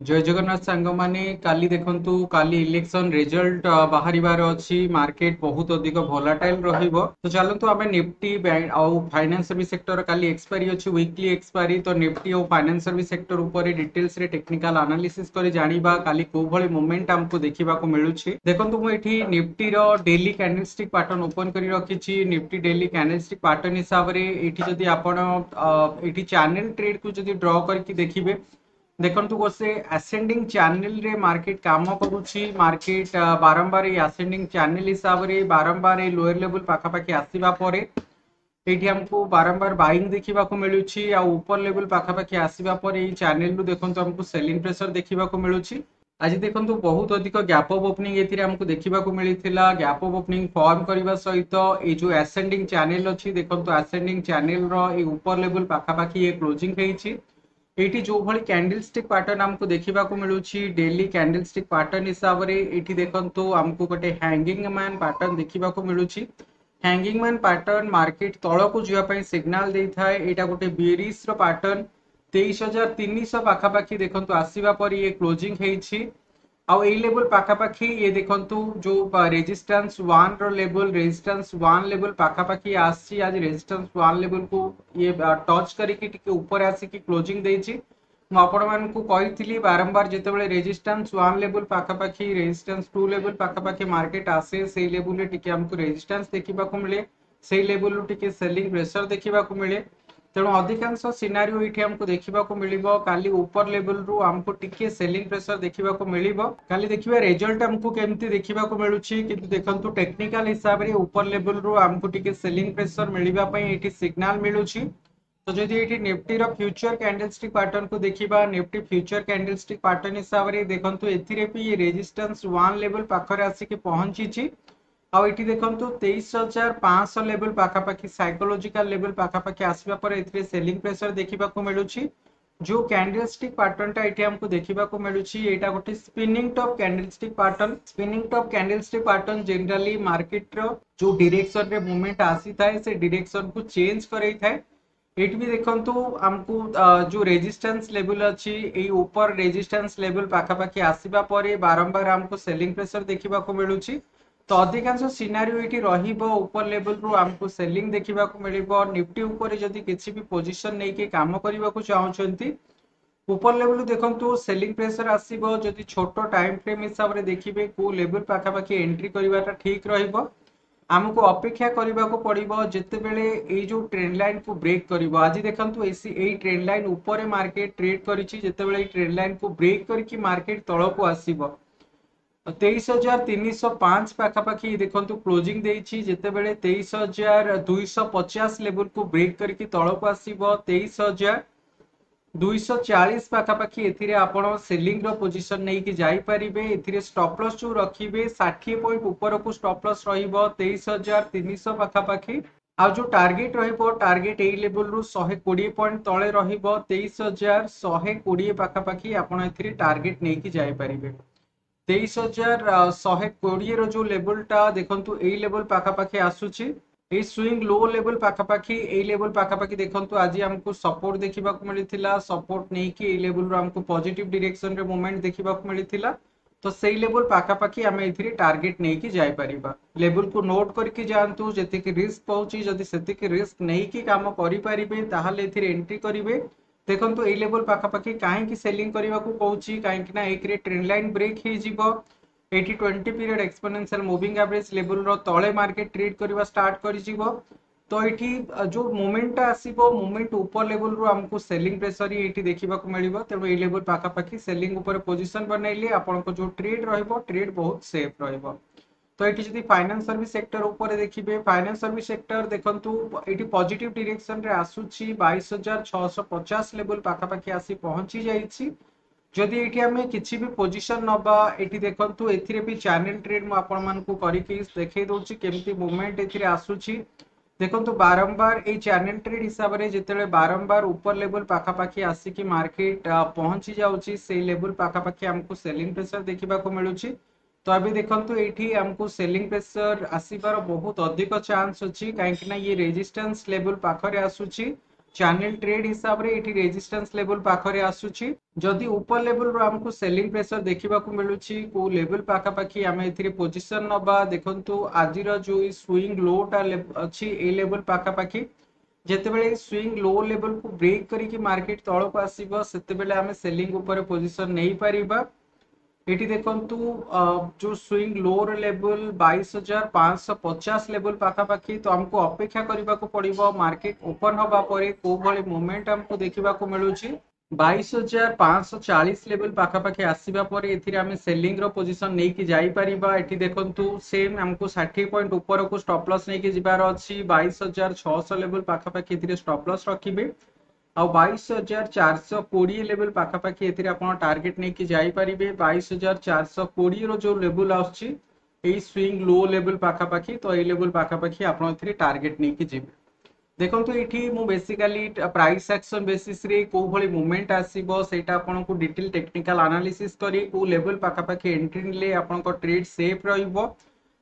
ଜୟ ଜଗନ୍ନାଥ ସାଙ୍ଗମାନେ। କାଲି ଦେଖନ୍ତୁ, କାଲି ଇଲେକ୍ସନ ରେଜଲ୍ଟ ବାହାରିବାର ଅଛି। ମାର୍କେଟ ବହୁତ ଅଧିକ ଭୋଲାଟାଇଲ ରହିବ। ତ ଚାଲନ୍ତୁ ଆମେ ନିଫ୍ଟି ଆଉ ଫାଇନାନ୍ସ ସର୍ଭିସ ସେକ୍ଟର, କାଲି ଏକ୍ସପାୟରି ଅଛି, ୱିକଲି ଏକ୍ସପାୟରି। ତ ନିଫ୍ଟି ଆଉ ଫାଇନାନ୍ସ ସର୍ଭିସ ସେକ୍ଟର ଉପରେ ଡିଟେଲ୍ସରେ ଟେକ୍ନିକାଲ ଆନାଲିସିସ୍ କରି ଜାଣିବା କାଲି କୋଉ ଭଳି ମୁଭମେଣ୍ଟ ଆମକୁ ଦେଖିବାକୁ ମିଳୁଛି। ଦେଖନ୍ତୁ, ମୁଁ ଏଠି ନିଫ୍ଟିର ଡେଲି କ୍ୟାଣ୍ଡେଲଷ୍ଟିକ୍ ପାଟର୍ନ ଓପନ କରି ରଖିଛି। ନିଫ୍ଟି ଡେଲି କ୍ୟାଣ୍ଡେଲଷ୍ଟିକ୍ ପାଟର୍ନ ହିସାବରେ ଏଇଠି ଯଦି ଆପଣ ଏଇଠି ଚ୍ୟାନେଲ ଟ୍ରେଡକୁ ଯଦି ଡ୍ର କରିକି ଦେଖିବେ, ଦେଖନ୍ତୁ, ଗୋଟେ ଆସେଣ୍ଡିଂ ଚ୍ୟାନେଲରେ ମାର୍କେଟ କାମ କରୁଛି। ମାର୍କେଟ ବାରମ୍ବାର ଏଇ ଆସେଣ୍ଡିଂ ଚ୍ୟାନେଲ ହିସାବରେ ବାରମ୍ବାର ଏଇ ଲୋୟର ଲେଭେଲ ପାଖାପାଖି ଆସିବା ପରେ ଏଇଠି ଆମକୁ ବାରମ୍ବାର ବାଇଂ ଦେଖିବାକୁ ମିଳୁଛି। ଆଉ ଉପର ଲେଭେଲ ପାଖାପାଖି ଆସିବା ପରେ ଏଇ ଚ୍ୟାନେଲରୁ ଦେଖନ୍ତୁ, ଆମକୁ ସେଲିଂ ପ୍ରେସର ଦେଖିବାକୁ ମିଳୁଛି। ଆଜି ଦେଖନ୍ତୁ, ବହୁତ ଅଧିକ ଗ୍ୟାପ୍ ଅପ୍ ଓପନିଂ ଏଥିରେ ଆମକୁ ଦେଖିବାକୁ ମିଳିଥିଲା। ଗ୍ୟାପ୍ ଅପ୍ ଓପନିଂ ଫର୍ମ କରିବା ସହିତ ଏଇ ଯୋଉ ଆସେଣ୍ଡିଂ ଚ୍ୟାନେଲ ଅଛି, ଦେଖନ୍ତୁ, ଆସେଣ୍ଡିଂ ଚ୍ୟାନେଲର ଏଇ ଉପର ଲେଭେଲ ପାଖାପାଖି ଇଏ କ୍ଲୋଜିଂ ହେଇଛି। ଏଇଠି ଯୋଉଭଳି କ୍ୟାଣ୍ଡେଲ ଷ୍ଟିକ୍ ପାଟର୍ନ ଆମକୁ ଦେଖିବାକୁ ମିଳୁଛି, ଡେଲି କ୍ୟାଣ୍ଡେଲ ଷ୍ଟିକ୍ ପାଟର୍ନ ହିସାବରେ ଏଇଠି ଦେଖନ୍ତୁ, ଆମକୁ ଗୋଟେ ହ୍ୟାଙ୍ଗିଂ ମ୍ୟାନ୍ ପାଟର୍ନ ଦେଖିବାକୁ ମିଳୁଛି। ହ୍ୟାଙ୍ଗିଂ ମ୍ୟାନ୍ ପାଟର୍ନ ମାର୍କେଟ ତଳକୁ ଯିବା ପାଇଁ ସିଗ୍ନାଲ ଦେଇଥାଏ। ଏଇଟା ଗୋଟେ ବିୟରିଶ ର ପାଟର୍ନ। 23,300 ପାଖାପାଖି ଦେଖନ୍ତୁ, ଆସିବା ପରେ ଇଏ କ୍ଲୋଜିଂ ହେଇଛି। ଆଉ ଏଇ ଲେଭେଲ ପାଖାପାଖି ଇଏ ଦେଖନ୍ତୁ, ଯୋଉ ରେଜିଷ୍ଟାନ୍ସ 1 ର ଲେଭେଲ, ରେଜିଷ୍ଟାନ୍ସ 1 ଲେଭେଲ ପାଖାପାଖି ଆସିଛି। ଆଜି ରେଜିଷ୍ଟାନ୍ସ 1 ଲେଭେଲକୁ ଇଏ ଟଚ୍ କରିକି ଟିକେ ଉପରେ ଆସିକି କ୍ଲୋଜିଂ ଦେଇଛି। ମୁଁ ଆପଣମାନଙ୍କୁ କହିଥିଲି ବାରମ୍ବାର, ଯେତେବେଳେ ରେଜିଷ୍ଟାନ୍ସ 1 ଲେଭେଲ ପାଖାପାଖି, ରେଜିଷ୍ଟାନ୍ସ 2 ଲେଭେଲ ପାଖାପାଖି ମାର୍କେଟ ଆସେ, ସେଇ ଲେଭେଲରେ ଟିକେ ଆମକୁ ରେଜିଷ୍ଟାନ୍ସ ଦେଖିବାକୁ ମିଳେ, ସେଇ ଲେଭେଲରୁ ଟିକେ ସେଲିଂ ପ୍ରେସର ଦେଖିବାକୁ ମିଳେ। ତେଣୁ ଅଧିକାଂଶ ସିନାରିଓ ଏଇଠି ଆମକୁ ଦେଖିବାକୁ ମିଳିବ, କାଲି ଉପର ଲେଭେଲରୁ ଆମକୁ ଟିକେ ସେଲିଂ ପ୍ରେସର ଦେଖିବାକୁ ମିଳିବ। କାଲି ଦେଖିବା ରେଜଲ୍ଟ ଆମକୁ କେମିତି ଦେଖିବାକୁ ମିଳୁଛି। କିନ୍ତୁ ଦେଖନ୍ତୁ, ଟେକ୍ନିକାଲ ହିସାବରେ ଉପର ଲେଭେଲରୁ ଆମକୁ ଟିକେ ସେଲିଂ ପ୍ରେସର ମିଳିବା ପାଇଁ ଏଇଠି ସିଗ୍ନାଲ ମିଳୁଛି। ତ ଯଦି ଏଇଠି ନିଫ୍ଟିର ଫ୍ୟୁଚର କ୍ୟାଣ୍ଡେଲଷ୍ଟିକ୍ ପାଟର୍ନକୁ ଦେଖିବା, ନିଫ୍ଟି ଫ୍ୟୁଚର କ୍ୟାଣ୍ଡେଲଷ୍ଟିକ୍ ପାଟର୍ନ ହିସାବରେ ଦେଖନ୍ତୁ, ଏଥିରେ ବି ରେଜିଷ୍ଟାନ୍ସ 1 ଲେଭେଲ ପାଖରେ ଆସିକି ପହଞ୍ଚିଛି। ଆଉ ଏଠି ଦେଖନ୍ତୁ, 23,500 ଲେଭେଲ ପାଖାପାଖି, ସାଇକୋଲୋଜିକାଲ ଲେଭେଲ ପାଖାପାଖି ଆସିବା ପରେ ଏଥିରେ ସେଲିଂ ପ୍ରେସର ଦେଖିବାକୁ ମିଳୁଛି। ଯୋଉ କ୍ୟାଣ୍ଡେଲଷ୍ଟିକ୍ ପାଟର୍ନଟା ଏଠି ଆମକୁ ଦେଖିବାକୁ ମିଳୁଛି, ଏଇଟା ଗୋଟେ spinning top candlestick pattern. Spinning top candlestick pattern generally ମାର୍କେଟର ଯୋଉ ଡିରେକ୍ସନରେ ମୁଭମେଣ୍ଟ ଆସିଥାଏ, ସେ ଡିରେକ୍ସନକୁ ଚେଞ୍ଜ କରେଇଥାଏ। ଏଇଠି ବି ଦେଖନ୍ତୁ, ଆମକୁ ଯୋଉ ରେଜିଷ୍ଟାନ୍ସ ଲେଭେଲ ଅଛି, ଏଇ ଉପର ରେଜିଷ୍ଟାନ୍ସ ଲେଭେଲ ପାଖାପାଖି ଆସିବା ପରେ ବାରମ୍ବାର ଆମକୁ ସେଲିଂ ପ୍ରେସର ଦେଖିବାକୁ ମିଳୁଛି। ତ ଅଧିକାଂଶ ସିନାରିଓ ଏଇଠି ରହିବ, ଉପର ଲେଭେଲରୁ ଆମକୁ ସେଲିଂ ଦେଖିବାକୁ ମିଳିବ। ନିଫ୍ଟି ଉପରେ ଯଦି କିଛି ବି ପୋଜିସନ ନେଇକି କାମ କରିବାକୁ ଚାହୁଁଛନ୍ତି, ଉପର ଲେଭେଲରୁ ଦେଖନ୍ତୁ ସେଲିଂ ପ୍ରେସର ଆସିବ। ଯଦି ଛୋଟ ଟାଇମ ଫ୍ରେମ୍ ହିସାବରେ ଦେଖିବେ, କୋଉ ଲେଭେଲ ପାଖାପାଖି ଏଣ୍ଟ୍ରି କରିବାଟା ଠିକ ରହିବ, ଆମକୁ ଅପେକ୍ଷା କରିବାକୁ ପଡିବ ଯେତେବେଳେ ଏଇ ଯୋଉ ଟ୍ରେଣ୍ଡ ଲାଇନକୁ ବ୍ରେକ୍ କରିବ। ଆଜି ଦେଖନ୍ତୁ, ଏଇ ଟ୍ରେଣ୍ଡ ଲାଇନ ଉପରେ ମାର୍କେଟ ଟ୍ରେଡ୍ କରିଛି। ଯେତେବେଳେ ଏଇ ଟ୍ରେଣ୍ଡ ଲାଇନକୁ ବ୍ରେକ୍ କରିକି ମାର୍କେଟ ତଳକୁ ଆସିବ, 23,305 ପାଖାପାଖି ଦେଖନ୍ତୁ କ୍ଲୋଜିଂ ଦେଇଛି। ଯେତେବେଳେ 23,250 ଲେଭେଲକୁ ବ୍ରେକ୍ କରିକି ତଳକୁ ଆସିବ, 23,240 ପାଖାପାଖି ଏଥିରେ ଆପଣ ସେଲିଂ ର ପୋଜିସନ ନେଇକି ଯାଇପାରିବେ। ଏଥିରେ ଷ୍ଟପ୍ ଲସ୍ ଯୋଉ ରଖିବେ, 60 ପଏଣ୍ଟ ଉପରକୁ ଷ୍ଟପ୍ ଲସ୍ ରହିବ 23,300 ପାଖାପାଖି। ଆଉ ଯୋଉ ଟାର୍ଗେଟ ରହିବ, ଟାର୍ଗେଟ ଏଇ ଲେଭେଲରୁ 120 ପଏଣ୍ଟ ତଳେ ରହିବ। 23,120 ପାଖାପାଖି ଆପଣ ଏଥିରେ ଟାର୍ଗେଟ ନେଇକି ଯାଇପାରିବେ। 23,120ର ଯୋଉ ଲେଭେଲଟା ଦେଖନ୍ତୁ, ଏଇ ଲେଭେଲ ପାଖାପାଖି ଆସୁଛି, ଏଇ ସୁଇଙ୍ଗ ଲୋ ଲେଭେଲ ପାଖାପାଖି। ଏଇ ଲେଭେଲ ପାଖାପାଖି ଦେଖନ୍ତୁ, ଆଜି ଆମକୁ ସପୋର୍ଟ ଦେଖିବାକୁ ମିଳିଥିଲା। ସପୋର୍ଟ ନେଇକି ଏଇ ଲେଭେଲରୁ ଆମକୁ ପଜିଟିଭ ଡିରେକ୍ସନରେ ମୁଭମେଣ୍ଟ ଦେଖିବାକୁ ମିଳିଥିଲା। ତ ସେଇ ଲେଭେଲ ପାଖାପାଖି ଆମେ ଏଥିରେ ଟାର୍ଗେଟ ନେଇକି ଯାଇପାରିବା। ଲେଭେଲକୁ ନୋଟ୍ କରିକି ଯାଆନ୍ତୁ। ଯେତିକି ରିସ୍କ ପହୁଛି, ଯଦି ସେତିକି ରିସ୍କ ନେଇକି କାମ କରିପାରିବେ, ତାହେଲେ ଏଥିରେ ଏଣ୍ଟ୍ରି କରିବେ। ଦେଖନ୍ତୁ, ଏଇ ଲେଭେଲ ପାଖାପାଖି କାହିଁକି ସେଲିଂ କରିବାକୁ କହୁଛି? କାହିଁକି ନା ଏକରେ ଟ୍ରେଣ୍ଡ ଲାଇନ ବ୍ରେକ୍ ହେଇଯିବ। ଏଇଠି 20 ପିରିୟଡ଼ ଏକ୍ସପୋନେନ୍ସିଆଲ ମୁଭିଂ ଆଭରେଜ ଲେଭେଲର ତଳେ ମାର୍କେଟ ଟ୍ରେଡ୍ କରିବା ଷ୍ଟାର୍ଟ କରିଯିବ। ତ ଏଇଠି ଯୋଉ ମୁଭମେଣ୍ଟଟା ଆସିବ, ମୁଭମେଣ୍ଟ ଉପର ଲେଭେଲରୁ ଆମକୁ ସେଲିଂ ପ୍ରେସର ହିଁ ଏଇଠି ଦେଖିବାକୁ ମିଳିବ। ତେଣୁ ଏଇ ଲେଭେଲ ପାଖାପାଖି ସେଲିଂ ଉପରେ ପୋଜିସନ ବନେଇଲେ ଆପଣଙ୍କ ଯୋଉ ଟ୍ରେଡ୍ ରହିବ, ଟ୍ରେଡ୍ ବହୁତ ସେଫ୍ ରହିବ। ତ ଏଠି ଯଦି ଫାଇନାନ୍ସ ସର୍ଭିସ ସେକ୍ଟର ଉପରେ ଦେଖିବେ, ଫାଇନାନ୍ସ ସର୍ଭିସ ସେକ୍ଟର ଦେଖନ୍ତୁ, ଏଇଠି ପଜିଟିଭ ଡିରେକ୍ସନରେ ଆସୁଛି। 22,650 ଲେଭେଲ ପାଖାପାଖି ଆସି ପହଞ୍ଚି ଯାଇଛି। ଯଦି ଏଇଠି ଆମେ କିଛି ବି ପୋଜିସନ ନବା, ଏଠି ଦେଖନ୍ତୁ, ଏଥିରେ ବି ଚ୍ୟାନେଲ ଟ୍ରେଡ୍ ମୁଁ ଆପଣମାନଙ୍କୁ କରିକି ଦେଖେଇ ଦଉଛି କେମିତି ମୁଭମେଣ୍ଟ ଏଥିରେ ଆସୁଛି। ଦେଖନ୍ତୁ, ବାରମ୍ବାର ଏଇ ଚ୍ୟାନେଲ ଟ୍ରେଡ୍ ହିସାବରେ ଯେତେବେଳେ ବାରମ୍ବାର ଉପର ଲେଭେଲ ପାଖାପାଖି ଆସିକି ମାର୍କେଟ ପହଞ୍ଚି ଯାଉଛି, ସେଇ ଲେଭେଲ ପାଖାପାଖି ଆମକୁ ସେଲିଂ ପ୍ରେସର ଦେଖିବାକୁ ମିଳୁଛି। ତ ଏବେ ଦେଖନ୍ତୁ, ଏଇଠି ଆମକୁ ସେଲିଂ ପ୍ରେସର ଆସିବାର ବହୁତ ଅଧିକ ଚାନ୍ସ ଅଛି, କାହିଁକି ନା ଇଏ ରେଜିଷ୍ଟାନ୍ସ ଲେଭେଲ ପାଖରେ ଆସୁଛି। ଚ୍ୟାନେଲ ଟ୍ରେଡ୍ ହିସାବରେ ଏଠି ରେଜିଷ୍ଟାନ୍ସ ଲେଭେଲ ପାଖରେ ଆସୁଛି। ଯଦି ଉପର ଲେଭେଲରୁ ଆମକୁ ସେଲିଂ ପ୍ରେସର ଦେଖିବାକୁ ମିଳୁଛି, କୋଉ ଲେଭେଲ ପାଖାପାଖି ଆମେ ଏଥିରେ ପୋଜିସନ ନବା? ଦେଖନ୍ତୁ, ଆଜିର ଯୋଉ ସୁଇଙ୍ଗ ଲୋଟା ଅଛି, ଏଇ ଲେଭେଲ ପାଖାପାଖି ଯେତେବେଳେ ସୁଇଙ୍ଗ ଲୋ ଲେଭେଲକୁ ବ୍ରେକ୍ କରିକି ମାର୍କେଟ ତଳକୁ ଆସିବ, ସେତେବେଳେ ଆମେ ସେଲିଂ ଉପରେ ପୋଜିସନ ନେଇପାରିବା। ଏଠି ଦେଖନ୍ତୁ, ଯୋଉ ସୁଇଙ୍ଗ ଲୋର ଲେଭେଲ 22,550 ଲେଭେଲ ପାଖାପାଖି। ତ ଆମକୁ ଅପେକ୍ଷା କରିବାକୁ ପଡିବ, ମାର୍କେଟ ଓପନ ହବା ପରେ କୋଉ ଭଳି ମୁଭମେଣ୍ଟ ଆମକୁ ଦେଖିବାକୁ ମିଳୁଛି। 22,540 ଲେଭେଲ ପାଖାପାଖି ଆସିବା ପରେ ଏଥିରେ ଆମେ ସେଲିଂ ର ପୋଜିସନ ନେଇକି ଯାଇପାରିବା। ଏଠି ଦେଖନ୍ତୁ, ସେମ୍ ଆମକୁ 60 ପଏଣ୍ଟ ଉପରକୁ ଷ୍ଟପ୍ ଲସ୍ ନେଇକି ଯିବାର ଅଛି। 22,600 ଲେଭେଲ ପାଖାପାଖି ଏଥିରେ ଷ୍ଟପ୍ ଲସ୍ ରଖିବେ ଆଉ 22,420 ଲେଭେଲ ପାଖାପାଖି ଏଥିରେ ଆପଣ ଟାର୍ଗେଟ ନେଇକି ଯାଇପାରିବେ। 22,420ର ଯୋଉ ଲେଭେଲ ଆସୁଛି, ଏଇ ସୁଇଙ୍ଗ ଲୋ ଲେଭେଲ ପାଖାପାଖି, ତ ଏଇ ଲେଭେଲ ପାଖାପାଖି ଆପଣ ଏଥିରେ ଟାର୍ଗେଟ ନେଇକି ଯିବେ। ଦେଖନ୍ତୁ, ଏଇଠି ମୁଁ ବେସିକାଲି ପ୍ରାଇସ୍ ଆକ୍ସନ ବେସିସରେ କୋଉ ଭଳି ମୁଭମେଣ୍ଟ ଆସିବ, ସେଇଟା ଆପଣଙ୍କୁ ଡିଟେଲ ଟେକ୍ନିକାଲ ଆନାଲିସିସ୍ କରି କୋଉ ଲେଭେଲ ପାଖାପାଖି ଏଣ୍ଟ୍ରି ନେଲେ ଆପଣଙ୍କ ଟ୍ରେଡ୍ ସେଫ୍ ରହିବ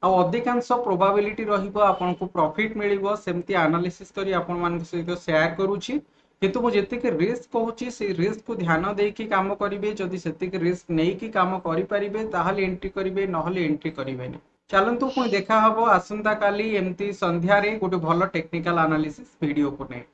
ଆଉ ଅଧିକାଂଶ ପ୍ରୋବାବିଲିଟି ରହିବ ଆପଣଙ୍କୁ ପ୍ରଫିଟ୍ ମିଳିବ, ସେମିତି ଆନାଲିସିସ୍ କରି ଆପଣମାନଙ୍କ ସହିତ ସେୟାର କରୁଛି। କିନ୍ତୁ ମୁଁ ଯେତିକି ରିସ୍କ କହୁଛି, ସେଇ ରିସ୍କକୁ ଧ୍ୟାନ ଦେଇକି କାମ କରିବେ। ଯଦି ସେତିକି ରିସ୍କ ନେଇକି କାମ କରିପାରିବେ, ତାହେଲେ ଏଣ୍ଟ୍ରି କରିବେ, ନହେଲେ ଏଣ୍ଟ୍ରି କରିବେନି। ଚାଲନ୍ତୁ, ପୁଣି ଦେଖା ହବ ଆସନ୍ତାକାଲି ଏମିତି ସନ୍ଧ୍ୟାରେ ଗୋଟେ ଭଲ ଟେକ୍ନିକାଲ ଆନାଲିସିସ୍ ଭିଡିଓକୁ ନେଇ।